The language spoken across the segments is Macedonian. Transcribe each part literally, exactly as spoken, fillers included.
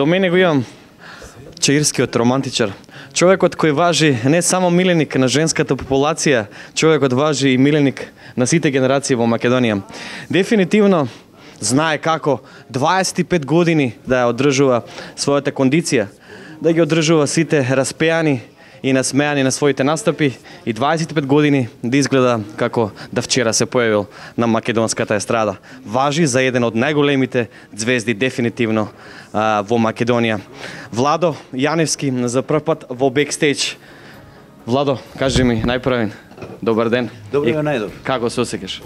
До мене го имам чаирскиот романтичар. Човекот кој важи не само миленик на женската популација, човекот важи и миленик на сите генерации во Македонија. Дефинитивно знае како дваесет и пет години да ја одржува својата кондиција, да ги одржува сите распеани и насмеани на своите настапи и дваесет и пет години да изгледа како да вчера се појавил на македонската естрада. Важи за еден од најголемите звезди дефинитивно а, во Македонија. Владо Јаневски за прв пат во бекстејдж. Владо, кажи ми најпрвен, добар ден. Добро ден, најдобро. Како се осеќаш?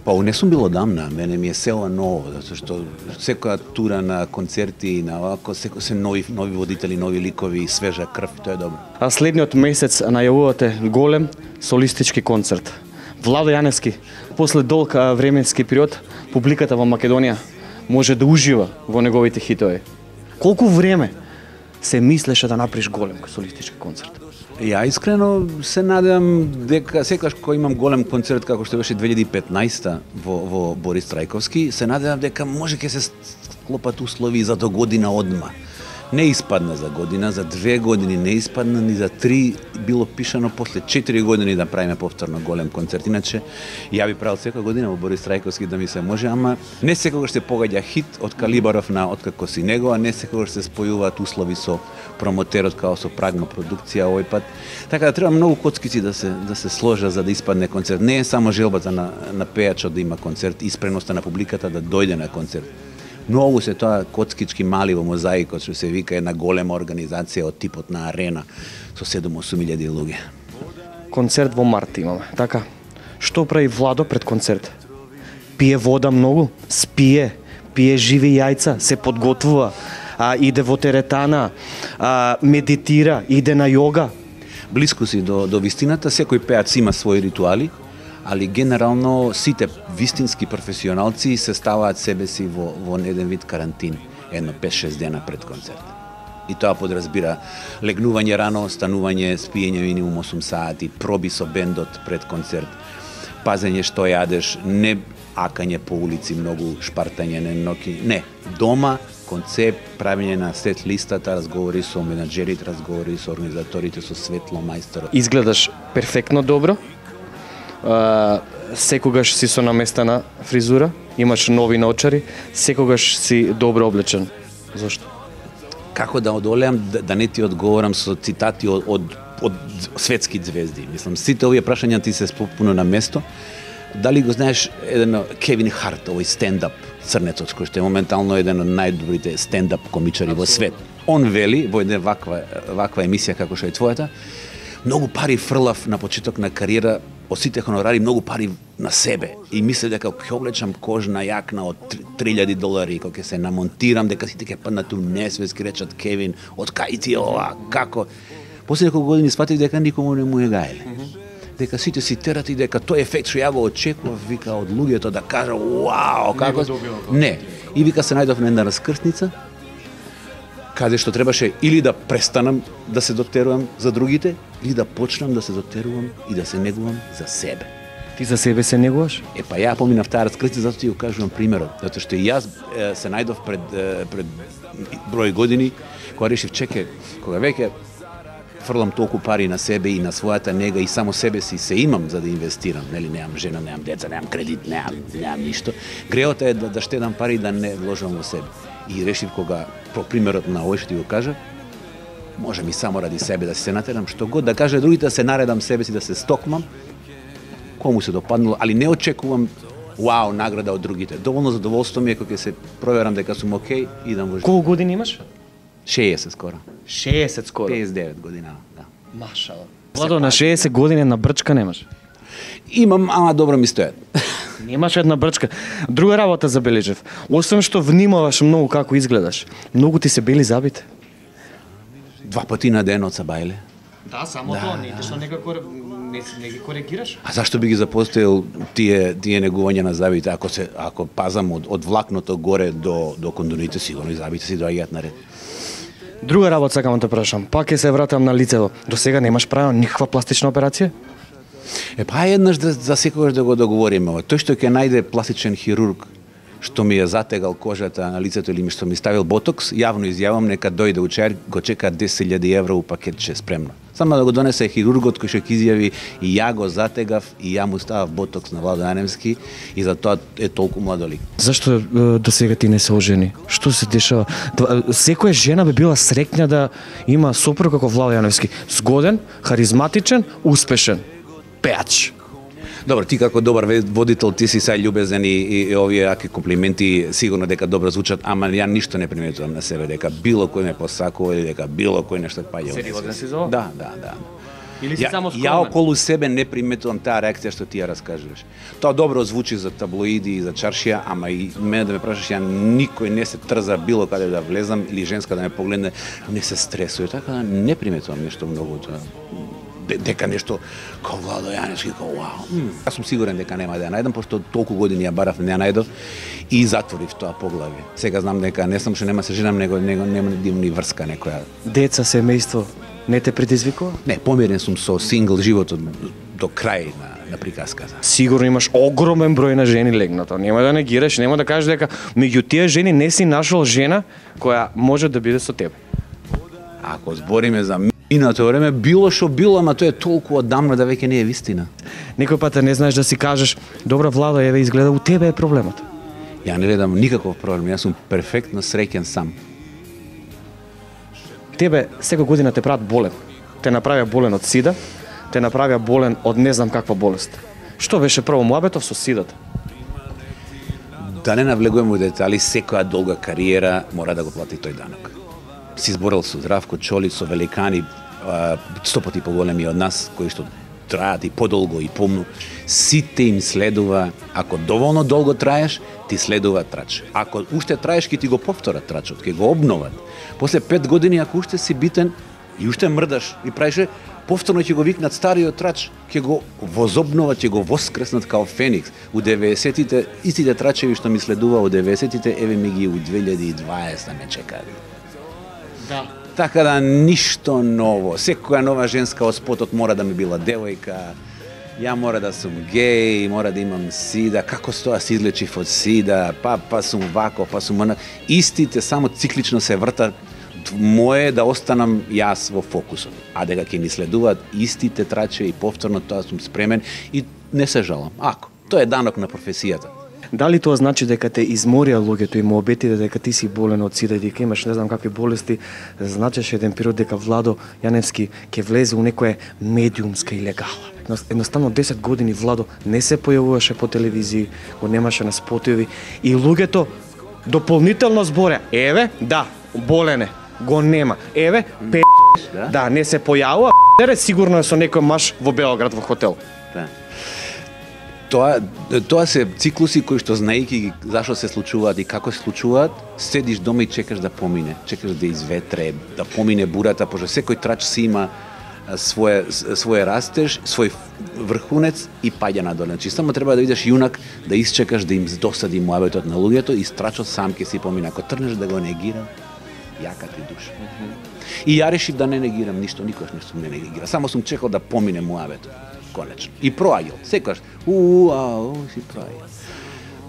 Па, не сум бил одамна, мене ми е село ново, затоа што секоја тура на концерти, на овако, секој се нови, нови водители, нови ликови, свежа крв, тоа е добро. А следниот месец најавувате голем солистички концерт. Владо Јаневски, после долг временски период, публиката во Македонија може да ужива во неговите хитови. Колку време се мислеше да направиш голем солистички концерт? Ја искрено се надевам дека секогаш кога имам голем концерт како што беше две илјади и петнаесета во, во Борис Трајковски, се надевам дека може ќе се склопат услови за до година одма. Не испадна за година, за две години не испадна, ни за три било пишано после четири години да правиме повторно голем концерт. Иначе ја би правил секоја година во Борис Трајковски да ми се може, ама не секогаш се погаѓа хит од калибаров на откако си него, а не секогаш се спојуваат услови со промотерот као со Прагма продукција овој пат. Така да треба многу коцкици да се да се сложа за да испадне концерт. Не е само желбата на на пејачот да има концерт, испреноста на публиката да дојде на концерт. Многу се тоа коцкички мали во мозаикот, што се вика една голема организација од типот на арена со седум-осум илјади луѓе. Концерт во март имаме, така? Што прави Владо пред концерт? Пие вода многу, спие, пие живи јајца, се подготвува, а, иде во теретана, а, медитира, иде на јога. Блиску си до, до вистината, секој пеац има своји ритуали, али генерално сите вистински професионалци се ставаат себе си во, во еден вид карантин, едно пет-шест дена пред концерт. И тоа подразбира легнување рано, станување, спиење минимум осум сати, проби со бендот пред концерт, пазење што јадеш, не акање по улици, многу шпартање, не ноки, не, дома, концепт, правење на сет листата, разговори со менаџерите, разговори со организаторите, со светло мајсторот. Изгледаш перфектно добро. Uh, секогаш си со наместена фризура, имаш нови наочари, секогаш си добро облечен. Зошто? Како да одолеам да, да не ти одговорам со цитати од, од, од светски звезди. Мислам, сите овие прашања ти се попуно на место. Дали го знаеш еден Кевин Харт, овој стендап црнецот, кој што е моментално еден од најдобрите стендап комичари во свет. Он вели во една ваква, ваква емисија како што е твојата, многу пари фрлав на почеток на кариера, од сите хонорари многу пари на себе и мислев дека ќе облечам кожна јакна од три илјади долари, кога ќе се намонтирам, дека сите ќе паднат у несвест, ќе речат Кевин, од кај ти ова, како? После неколку години сфатив дека никому не му е гаеле. Mm -hmm. Дека сите си терат и дека тој ефект што ја го очекував, вика, од луѓето да кажа, вау, како? Не. И вика се најдов на една раскрсница, каде што требаше или да престанам да се дотерувам за другите, или да почнам да се дотерувам и да се негувам за себе. Ти за себе се негуваш? Е, па ја поминав таа раскрсница, затоа ти го кажувам примерот, затоа што и јас е, се најдов пред пред број години, кога решив, чеке, кога веќе фрлам толку пари на себе и на својата нега и само себе си се имам за да инвестирам, нели, немам жена, немам деца, немам кредит, немам, немам ништо. Греот е да, да штедам пари и да не вложам во себе. И решив кога по примерот на овој што ти го кажа, може ми само ради себе да се натерам, што год да кажа другите, да се наредам себе си, да се стокмам, кому се допаднало, али не очекувам вау награда од другите. Доволно задоволство ми е кога ќе се проверам дека сум окей и идам во живот. Колку години имаш? шеесет скоро. шеесет скоро. педесет и девет година, да. Машала. Владо, на шеесет години на брчка немаш? Имам, ама добро ми стојат. Немаш една брчка. Друга работа забележав. Освен што внимаваш многу како изгледаш, многу ти се бели забите. Два пати на ден од сабајле. Да, само да, тоа, не што некако не, не ги коригираш. А зашто би ги запостоил тие тие негувања на забите, ако се ако пазам од од влакното горе до до кондоните, сигурно и забите си доаѓаат на ред. Друга работа сакам да те прашам. Пак ќе се вратам на лицето. До сега немаш правено никаква пластична операција? Е, па еднаш да, за секогаш да го договориме ова. Тој што ќе најде пластичен хирург што ми е затегал кожата на лицето или ми што ми ставил ботокс, јавно изјавам нека дојде учер, го чека десет илјади евра у пакетче спремно. Само да го донесе хирургот кој што ќе изјави и ја го затегав и ја му ставав ботокс на Владо Јаневски и затоа е толку младолик. Зашто е, до сега ти не се ожени? Што се дешава? Секоја жена би била среќна да има сопруг како Владо Јаневски. Згоден, харизматичен, успешен. Пеач. Добро, ти како добар водител, ти си сај љубезен и, и, и овие аки комплименти сигурно дека добро звучат, ама ја ништо не приметувам на себе дека било кој ме посакува или дека било кој нешто паѓа. Сериозен си за ова? Да, да, да. Или си ја, само скромен? Ја околу себе не приметувам таа реакција што ти ја раскажуваш. Тоа добро звучи за таблоиди и за чаршија, ама и мене да ме прашаш, ја никој не се трза било каде да влезам или женска да ме погледне, не се стресува, така да не приметувам нешто многу тоа. Дека нешто као Владо Јаневски, као вау. Јас сум сигурен дека нема да ја најдам, пошто толку години ја барав, не ја најдов и затворив тоа поглавје. Сега знам дека не сум што нема се женам, него него нема да имам ни врска некоја. Деца, семејство, не те предизвикува? Не, помирен сум со сингл животот до крај на на приказката. Сигурно имаш огромен број на жени легнато. Нема да негираш, нема да кажеш дека меѓу тие жени не си нашол жена која може да биде со тебе. Ако збориме за минато време, било што било, ама тоа е толку одамно да веќе не е вистина. Некој пат не знаеш да си кажеш, добра Владо, еве изгледа у тебе е проблемот. Ја не гледам никаков проблем, јас сум перфектно среќен сам. Тебе секоја година те прават болен. Те направија болен од сида, те направија болен од не знам каква болест. Што беше прво муабетов со сидата? Да не навлегуваме во детали, секоја долга кариера мора да го плати тој данок. Си зборел со Здравко Чолич, со великани, сто пати поголеми од нас, кои што траат и подолго и помну. Сите им следува, ако доволно долго траеш, ти следува трач. Ако уште траеш, ќе ти го повторат трачот, ќе го обноват. После пет години, ако уште си битен и уште мрдаш и правиш, повторно ќе го викнат стариот трач, ќе го возобноват, ќе го воскреснат као Феникс. У деветдесетите, истите трачеви што ми следува у деветдесетите, еве ми ги у две илјади и дваесета ме чекаат. Да. Така да ништо ново. Секоја нова женска од спотот мора да ми била девојка. Ја мора да сум геј, мора да имам сида. Како стоа се излечив од сида, па па сум вако, па сум она. Истите само циклично се вртат. Мое да останам јас во фокусот. А дека ќе ми следуваат истите траче и повторно тоа сум спремен и не се жалам. Ако, тоа е данок на професијата. Дали тоа значи дека те изморија луѓето и му обетите дека ти си болен од сида и дека имаш не знам какви болести, значеше еден период дека Владо Јаневски ќе влезе у некоја медиумска илегала. Едноставно десет години Владо не се појавуваше по телевизии, го немаше на спотови и луѓето дополнително зборя, еве, да, болен е, го нема. Еве, пе... Да, да не се појавува, пе... сигурно е со некој маж во Белград во хотел. Да. Тоа, тоа се циклуси кои што знаејќи ги зашо се случуваат и како се случуваат, седиш дома и чекаш да помине, чекаш да изветре, да помине бурата, пошто секој трач си има своje, своje растеж, свој врхунец и паѓа надоле. Значи само треба да идеш јунак, да исчекаш да им досади муабетот на луѓето и страчот сам ќе си помине. Ако трнеш да го негира, јака ти душа. Mm-hmm. И ја решив да не негирам ништо, никош не сум не негира. Само сум чекал да помине муабетот. Конечно. И проаѓал. Секогаш, уу, ау, си проаѓал.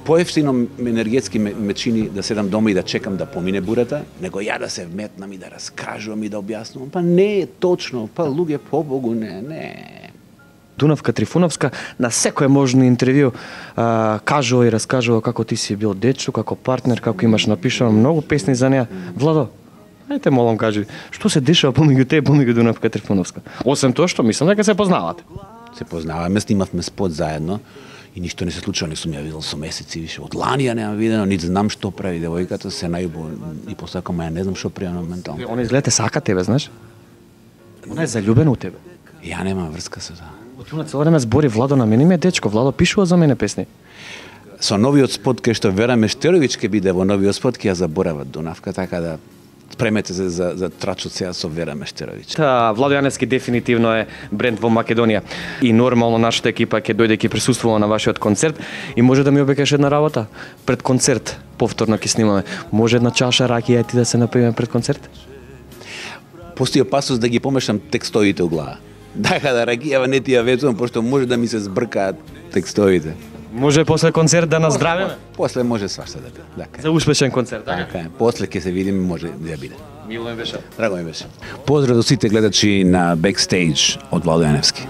Поевтино енергетски ме, ме чини да седам дома и да чекам да помине бурата, него ја да се вметнам и да раскажувам и да објаснувам. Па не е точно, па луѓе побогу, не, не. Дунавка Трифуновска на секое можно интервју а, кажува и раскажува како ти си бил дечо, како партнер, како имаш напишано многу песни за неа. Владо, ајте молам кажи, што се дешава помеѓу тебе и помеѓу Дунавка Трифуновска? Освен тоа што мислам дека се познавате. Се познаваме, снимавме спот заедно и ништо не се случува, не сум ја видел со месеци више. Од лани ја нема видено, нит знам што прави девојката, се најубаво и посакам, ја не знам што прави моментално. Она изгледа сака тебе, знаеш? Она е заљубена у тебе. Ја нема врска со тоа. Од на цело време збори Владо на мене ми е дечко, Владо пишува за мене песни. Со новиот спот кај што Вера Мештеровиќ ќе биде во новиот спот, ќе ја заборава Дунавка, така да спремете се за, за трачот сега со Вера Мештеровиќ. Та, Владо Јаневски дефинитивно е бренд во Македонија и нормално нашата екипа ќе дојде ќе присуствува на вашиот концерт и може да ми обекаш една работа пред концерт, повторно ќе снимаме. Може една чаша ракија ти да се напиеме пред концерт? Постои опасност да ги помешам текстовите у глава. Дај да ракијава не ти ја ветувам, пошто може да ми се збркаат текстовите. Може после концерт да наздравиме? После може свашта да биде. Така. За успешен концерт, така? Така е. После ќе се видиме, може да биде. Мило ми беше. Драго ми беше. Поздрав до сите гледачи на Backstage од Владо Јаневски.